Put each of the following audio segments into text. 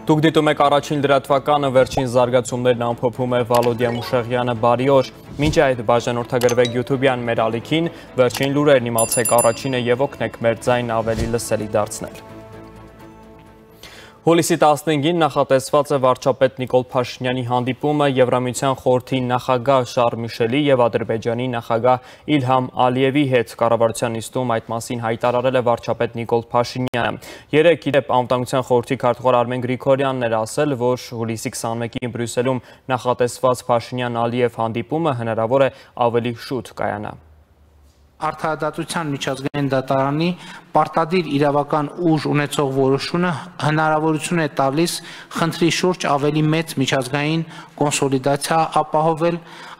Դուք դիտում եք առաջին լրատվականը, վերջին զարգացումներն ամփոփում է Վալոդիա Մուշեղյանը, բարի օր։ Մինչ այդ բաժանորդագրվեք YouTube-յան մեր ալիքին, վերջին լուրերն իմացեք առաջինը եւ օգնեք մեր ձայնը ավելի լսելի դարձնել։ Հուլիսի 15-ին նախատեսված է վարչապետ Նիկոլ Փաշինյանի հանդիպումը Եվրամիության խորհրդի նախագահ Շարլ Միշելի եւ Ադրբեջանի նախագահ Իլհամ Ալիևի հետ կառավարության նիստում այդ մասին հայտարարել է վարչապետ Նիկոլ Փաշինյանը։ Երեկ իդեպ Անվտանգության խորհրդի քարտուղար Արմեն Գրիգորյանն էր ասել, որ հուլիսի 21-ին Բրյուսելում նախատեսված Փաշինյան-Ալիև հանդիպումը հնարավոր է ավելի շուտ կայանա։ Արդարադատության միջազգային դատարանի պարտադիր իրավական ուժ ունեցող որոշումը հնարավորություն է տալիս խնդրի շուրջ ավելի մեծ միջազգային կոնսոլիդացիա ապահովել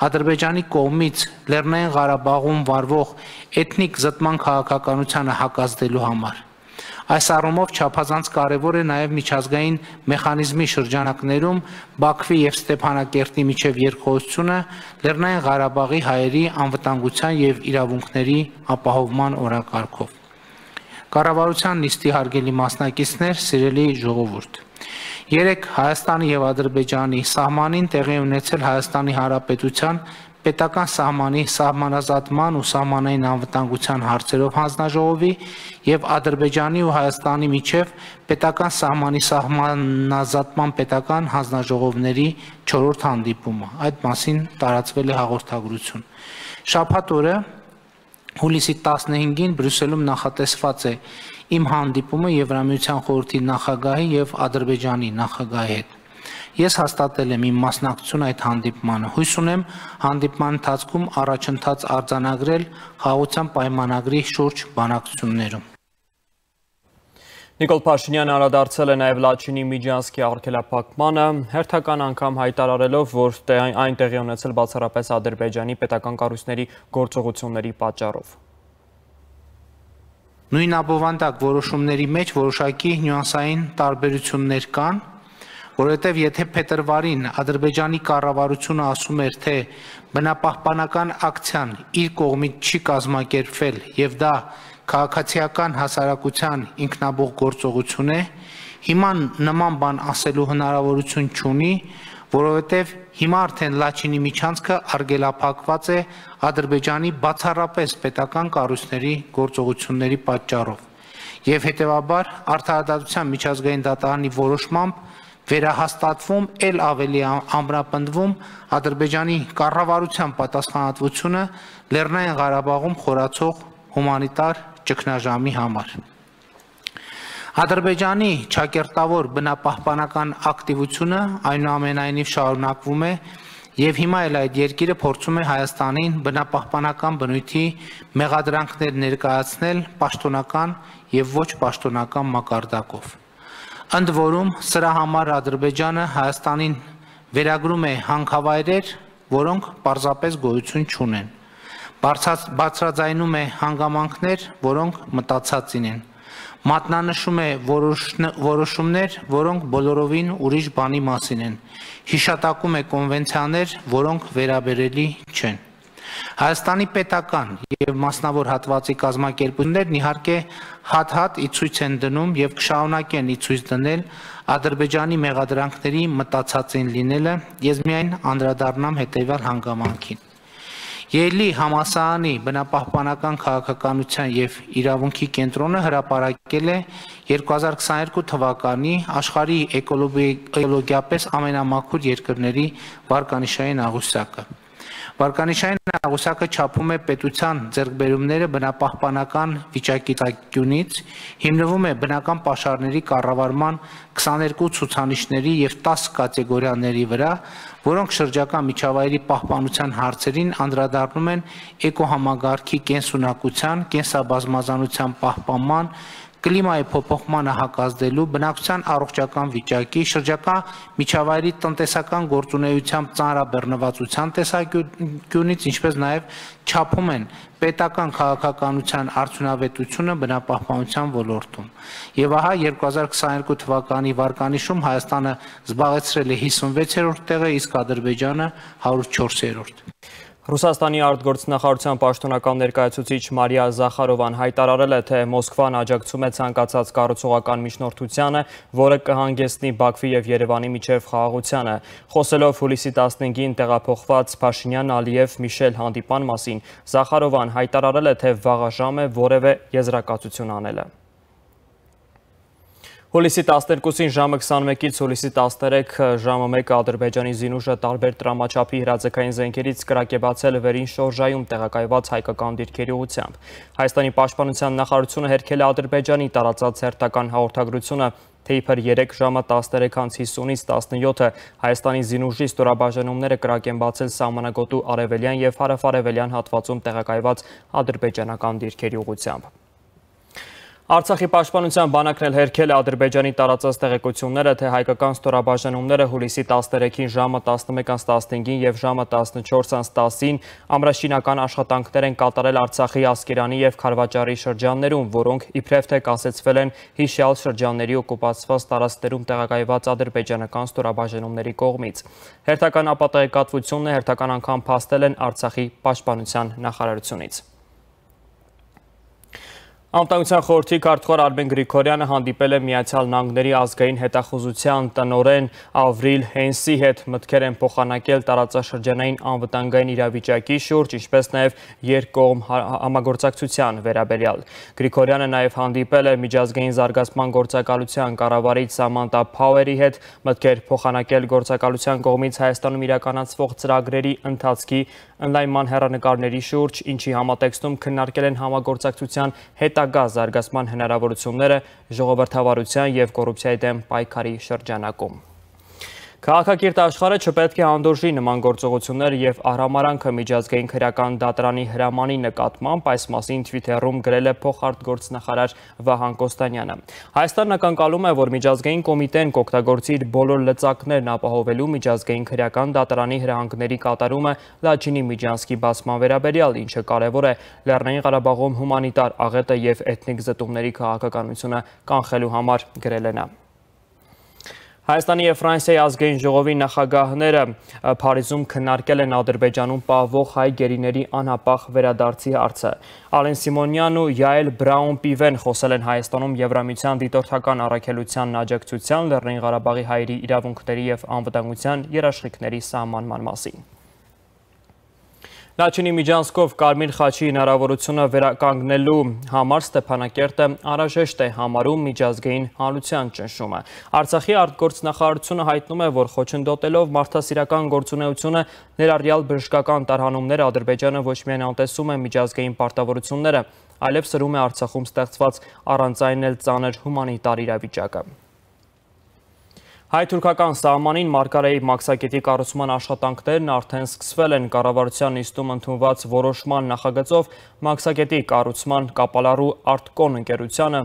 Ադրբեջանի կողմից Լեռնային Ղարաբաղում վարվող էթնիկ զտման քաղաքականությանը հակազդելու համար։ Այս առումով չափազանց կարևոր է նաև միջազգային մեխանիզմի շրջանակներում Բաքվի եւ Ստեփանակերտի միջև երկխոսությունը Լեռնային Ղարաբաղի հայերի անվտանգության եւ իրավունքների ապահովման օրակարգով։ Կառավարության նիստի հարգելի մասնակիցներ, սիրելի ժողովուրդ, երեկ Հայաստանի եւ Ադրբեջանի սահմանին տեղի ունեցել Հայաստանի Հանրապետության պետական սահմանի սահմանազատման ու սահմանային անվտանգության հարցերով հանձնաժողովի եւ Ադրբեջանի ու Հայաստանի միջև պետական սահմանի սահմանազատման պետական հանձնաժողովների 4-րդ հանդիպումը։ Այդ մասին տարածվել է հաղորդագրություն։ Շաբաթ օրը հուլիսի 15-ին Բրյուսելում նախատեսված է իմ հանդիպումը Եվրամիության խորհրդի նախագահի եւ Ադրբեջանի նախագահի հետ։ Ես հաստատել եմ իմ մասնակցությունը այդ հանդիպմանը։ Հույս ունեմ հանդիպման ընթացքում առաջընթաց արձանագրել խաղաղության պայմանագրի շուրջ բանակցություններում։ Նիկոլ Փաշինյանը անդրադարձել է նաև Լաչինի Միջանցքի արգելափակմանը, հերթական անգամ հայտարարելով, որ այն տեղի ունեցել բացառապես Ադրբեջանի պետական կառույցների գործողությունների պատճառով։ Նույն ապովանդակ որոշումների մեջ որոշակի նյուանսային տարբերություններ կան, որովհետև եթե փետրվարին Ադրբեջանի կառավարությունը ասում էր, թե բնապահպանական ակցիան իր կողմից չի կազմակերպվել եւ դա քաղաքացիական հասարակության ինքնաբուխ գործողություն է, հիմա նման բան ասելու հնարավորություն չունի, որովհետև հիմա արդեն Լաչինի միջանցքը արգելափակված է Ադրբեջանի բացառապես պետական կառույցների գործողությունների պատճառով եւ հետեւաբար արդարադատության միջազգային դատարանի որոշմամբ վերահաստատվում էլ ավելի ամրապնդվում Ադրբեջանի կառավարության պատասխանատվությունը Լեռնային Ղարաբաղում խորացող հումանիտար ճգնաժամի համար։ Ադրբեջանի ճակերտավոր բնապահպանական ակտիվությունը այնուամենայնիվ շարունակվում է եւ հիմա էլ այդ երկիրը փորձում է Հայաստանին բնապահպանական բնույթի մեղադրանքներ ներկայացնել պաշտոնական եւ ոչ պաշտոնական մակարդակով։ Ընդ որում սրա համար Ադրբեջանը Հայաստանին վերագրում է հանքավայրեր, որոնք պարզապես գոյություն չունեն, բարձրաձայնում է հանգամանքներ, որոնք մտածածին են, մատնանշում է որոշումներ, որոնք բոլորովին ուրիշ բանի մասին են, հիշատակում է կոնվենցիաներ, որոնք վերաբերելի չեն։ Հայաստանի պետական եւ մասնավոր հատվածի կազմակերպություններն իհարկե հատ-հատ ի ցույց են դնում եւ կշարունակեն ի ցույց դնել Ադրբեջանի մեղադրանքների մտածածին լինելը, ես միայն անդրադառնամ հետեւյալ հանգամանքին։ Ելի համասարանի բնապահպանական քաղաքականության եւ իրավունքի կենտրոնը հրապարակել է 2022 թվականի աշխարհի էկոլոգիապես ամենամաքուր երկրների վարկանիշային աղյուսակը։ Վարկանիշային աղյուսակը չափում է պետության ձեռքբերումները բնապահպանական վիճակի ծագությունից, հիմնվում է բնական պաշարների կառավարման 22 ցուցանիշների եւ 10 կատեգորիաների վրա, որոնք շրջակա միջավայրի պահպանության հարցերին անդրադառնում են էկոհամագարքի կենսունակության, կենսաբազմազանության պահպանման, կլիմայի փոփոխմանը հակազդելու, բնակչության առողջական վիճակի, շրջակա միջավայրի տնտեսական գործունեությամբ ծանրաբեռնվածության տեսանկյունից, ինչպես նաև չափում են պետական քաղաքականության արդյունավետությունը բնապահպանության ոլորտում։ Եվ ահա 2022 թվականի վարկանիշում Հայաստանը զբաղեցրել է 56-րդ տեղը, իսկ Ադրբեջանը 104-րդ։ Ռուսաստանի արտգործնախարարության պաշտոնական ներկայացուցիչ Մարիա Զախարովան հայտարարել է, թե Մոսկվան աջակցում է ցանկացած կառուցողական միջնորդությանը, որը կհանգեցնի Բաքվի եւ Երևանի միջև խաղաղությանը։ Խոսելով հուլիսի 15-ին տեղափոխված Փաշինյան-Ալիև-Միշել հանդիպան մասին, Զախարովան հայտարարել է, թե վաղաժամ է որևէ եզրակացություն անելը։ Հուլիսի 12-ին ժամը 21-ից հուլիսի 13 ժամը 1 Ադրբեջանի զինուժը տարբեր տրամաչափի հրաձգային զենքերից կրակեբացել վերին շորժայում տեղակայված հայկական դիրքերի ուղղությամբ։ Հայաստանի պաշտպանության նախարարությունը հերքել է Ադրբեջանի տարածած հերթական հաղորդագրությունը, թե իբր 3 ժամը 13:50-ից 17-ը Հայաստանի զինուժի ստորաբաժանումները կրակ են բացել սահմանագոտու արևելյան եւ հարավարևելյան հատվածում տեղակայված ադրբեջանական դիրքերի ուղղությամբ։ Արցախի պաշտպանության բանակն էլ հերքել է Ադրբեջանի տարածած տեղեկությունները, թե հայկական ստորաբաժանումները հուլիսի 13-ին ժամը 11:15-ին եւ ժամը 14:10-ին ամրաշինական աշխատանքներ են կատարել Արցախի Ասկերանի եւ Խարվաճարի շրջաններում, որոնք իբրև թե կասեցվել են հիշյալ շրջանների օկուպացված տարածքներում տեղակայված ադրբեջանական ստորաբաժանումների կողմից։ Հերթական ապատեղեկատվությունն է հերթական անգամ փաստել են Արցախի պաշտպանության նախարարությունից։ Անվտանգության խորհրդի քարտուղար Արմեն Գրիգորյանը հանդիպել է Միացյալ Նահանգների ազգային հետախուզության տնօրեն Ավրիլ Հենսի հետ, մտքեր են փոխանակել տարածաշրջանային անվտանգային իրավիճակի շուրջ, ինչպես նաև երկկողմ համագործակցության վերաբերյալ։ Գրիգորյանը նաև հանդիպել է միջազգային զարգացման գործակալության կառավարիչ Սամանտա Փաուերի հետ, մտքեր փոխանակել գործակալության կողմից Հայաստանում իրականացվող ծրագրերի ընթացքի ընդլայնման հեռանկարների շուրջ, ինչի համատեքստում քննարկել են համագործակցության հետագա զարգացման հնարավորությունները ժողովրդավարության և կոռուպցիայի դեմ պայքարի շրջանակում։ Քաղաքակիրթ աշխարհը չպետք է հանդուրժի նման գործողություններ եւ արհամարանքը միջազգային քրեական դատարանի հրամանի նկատմամբ, այս մասին Twitter-ում գրել է փոխարտգործնախարար Վահան Կոստանյանը։ Հայաստանն ակնկալում է, որ միջազգային կոմիտեն կօգտագործի իր բոլոր լծակներն ապահովելու միջազգային քրեական դատարանի հրահանգների կատարումը Լաչինի Միջանցքի բացման վերաբերյալ, ինչը կարևոր է Լեռնային Ղարաբաղում հումանիտար աղետը եւ էթնիկ զտումների քաղաքականությունը կանխելու համար, գրել է նա։ Հայաստանի և Ֆրանսիայի ազգային ժողովի նախագահները Փարիզում քննարկել են Ադրբեջանում պահվող հայ գերիների անհապաղ վերադարձի հարցը։ Ալեն Սիմոնյանն ու Յայել Բրաուն-Պիվեն խոսել են Հայաստանում Եվրամիության դիտորդական առաքելության աջակցության, Լեռնային Ղարաբաղի հայերի իրավունքների և անվտանգության երաշխիքների սահմանման մասին։ Լաչինի Միջանցքով Կարմիր խաչի հնարավորությունը վերականգնելու համար Ստեփանակերտը անհրաժեշտ է համարում միջազգային հանրության ճնշումը։ Արցախի արտգործնախարարությունը հայտնում է, որ խոչընդոտելով մարդասիրական գործունեությունը, ներառյալ բժշկական տարհանումները, Ադրբեջանը ոչ միայն անտեսում է միջազգային պարտավորությունները, այլև սրում է Արցախում ստեղծված առանց այն էլ ծանր հումանիտար իրավիճակը։ Հայ-թուրքական սահմանին Մարգարեի մաքսակետի կառուցման աշխատանքներն արդեն սկսվել են կառավարության նիստում ընդունված որոշման նախագծով մաքսակետի կառուցման կապալառու Արտկոն ընկերությանը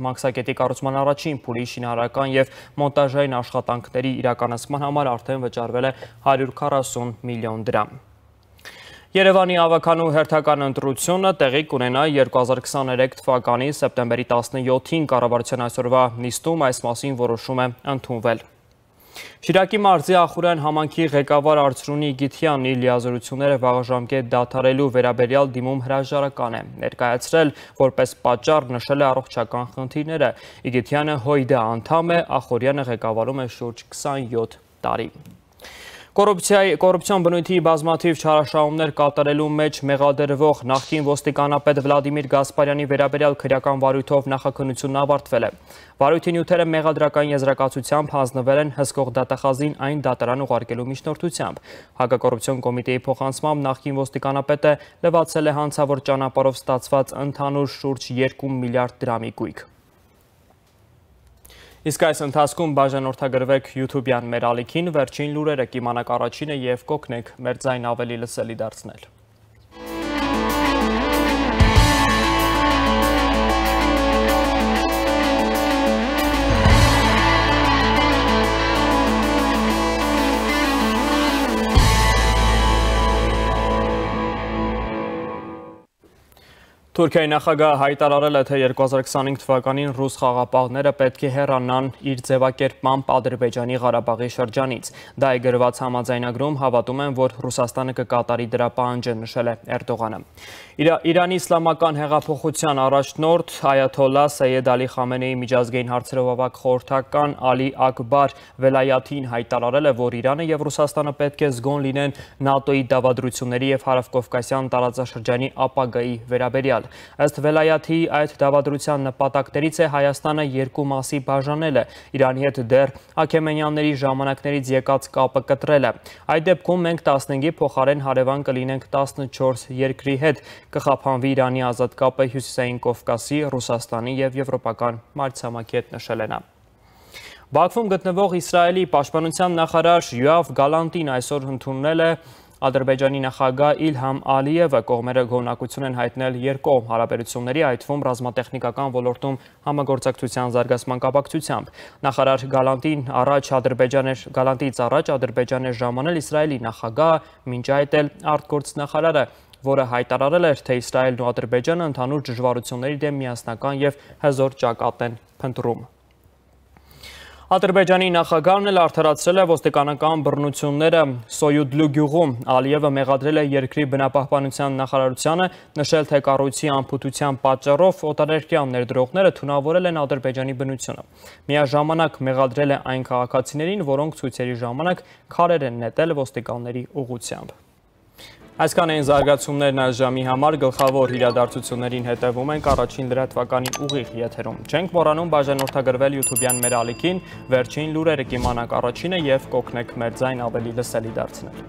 մաքսակետի կառուցման առաջին փուլի շինարարական և մոնտաժային աշխատանքների իրականացման համար արդեն վճարվել է 140 միլիոն դրամ։ Երևանի ավականու հերթական ընտրությունը տեղի կունենա 2023 թվականի սեպտեմբերի 17-ին կառավարության այսօրվա նիստում այս մասին որոշում է ընդունվել։ Շիրակի մարզի Ախուրյան համայնքի ղեկավար Արծրունի Իգիթյանն իր լիազորությունները վաղաժամկետ դադարելու վերաբերյալ դիմում հրաժարական է ներկայացրել, որպես պատճառ նշել է առողջական խնդիրները։ Իգիթյանը ՀՅԴ անդամ է, Ախուրյանը ղեկավարում է շուրջ 27 տարի։ Կոռուպցիոն բնույթի բազմաթիվ չարաշահումներ կատարելու մեջ մեղադրվող նախկին ոստիկանապետ Վլադիմիր Գասպարյանի վերաբերյալ քրեական վարույթով նախաքննությունն ավարտվել է։ Վարույթի նյութերը մեղադրական եզրակացությամբ հանձնվել են հսկող դատախազին այն դատարան ուղարկելու միջնորդությամբ։ Հակակոռուպցիոն կոմիտեի փոխանցմամբ նախկին ոստիկանապետը լվացել է հանցավոր ճանապարհով ստացված ընդհանուր շուրջ 2 միլիարդ դրամի գույք։ Իսկ այս ընթացքում բաժանորդագրվեք YouTube-յան մեր ալիքին, վերջին լուրերը կիմանաք առաջինը և կօգնեք մեր ձայն ավելի լսելի դարձնել։ Թուրքիայի նախագահը հայտարարել է, թե 2025 թվականին ռուս խաղապահները պետք է հեռանան իր ձևակերպմամբ Ադրբեջանի Ղարաբաղի շրջանից։ Դա է գրված համաձայնագրում, հավատում են, որ Ռուսաստանը կկատարի դրա պահանջը, նշել է Էրդողանը։ Իրանի իսլամական հեղափոխության առաջնորդ Այաթոլլահ Սեյեդ Ալի Խամենեի միջազգային հարցերով ավագ խորհրդական Ալի Ակբար Վելայաթին հայտարարել է, որ Իրանը եւ Ռուսաստանը պետք է զգոն լինեն ՆԱՏՕ-ի դավադրությունների եւ Հարավկովկասյան տարածաշրջանի ապագայի վերաբերյալ։ Ըստ Վելայաթի, այդ դավադրության նպատակներից է Հայաստանը երկու մասի բաժանելը, Իրանի հետ դեռ Աքեմենյանների ժամանակներից եկած կապը կտրելը։ Այդ դեպքում մենք 15-ի փոխարեն հարևան կլինենք 14 երկրի հետ, կխափանվի Իրանի ազատ կապը Հյուսիսային Կովկասի, Ռուսաստանի եւ եվրոպական մայրցամաքի հետ, նշել է նա։ Բաքվում գտնվող Իսրայելի պաշտպանության նախարար Յոավ Գալանտին այսօր ընդունել է Ադրբեջանի նախագահ Իլհամ Ալիևը, կողմերը գոհունակություն են հայտնել երկկողմ հարաբերությունների, այդ թվում ռազմատեխնիկական ոլորտում համագործակցության զարգացման կապակցությամբ։ Նախարար Գալանտիից առաջ Ադրբեջան էր ժամանել Իսրայելի նախագահը, մինչ այդ էլ արտգործնախարարը, որը հայտարարել էր, թե Իսրայելն ու Ադրբեջանը ընդհանուր դժվարությունների դեմ միասնական եւ հզոր ճակատ են փնտրում։ Ադրբեջանի նախագահն էլ արդարացրել է ոստիկանական բռնությունները Սոյուդլու գյուղում։ Ալիևը մեղադրել է երկրի բնապահպանության նախարարությանը, նշել, թե կառույցի անփութության պատճառով օտարերկրյա ներդրողները թունավորել են Ադրբեջանի բնությունը։ Միաժամանակ մեղադրել է այն քաղաքացիներին, որոնք ցույցերի ժամանակ քարեր են նետել ոստիկանների ուղղությամբ։ Այսքան էին զարգացումներն այս ժամի համար, գլխավոր իրադարձություններին հետևում ենք առաջին լրատվականի ուղիղ եթերում։ Չենք մոռանում բաժանորդագրվել YouTube-յան մեր ալիքին, վերջին լուրերը կիմանաք առաջինը եւ կօգնեք մեր ձայն ավելի լսելի դարձնել։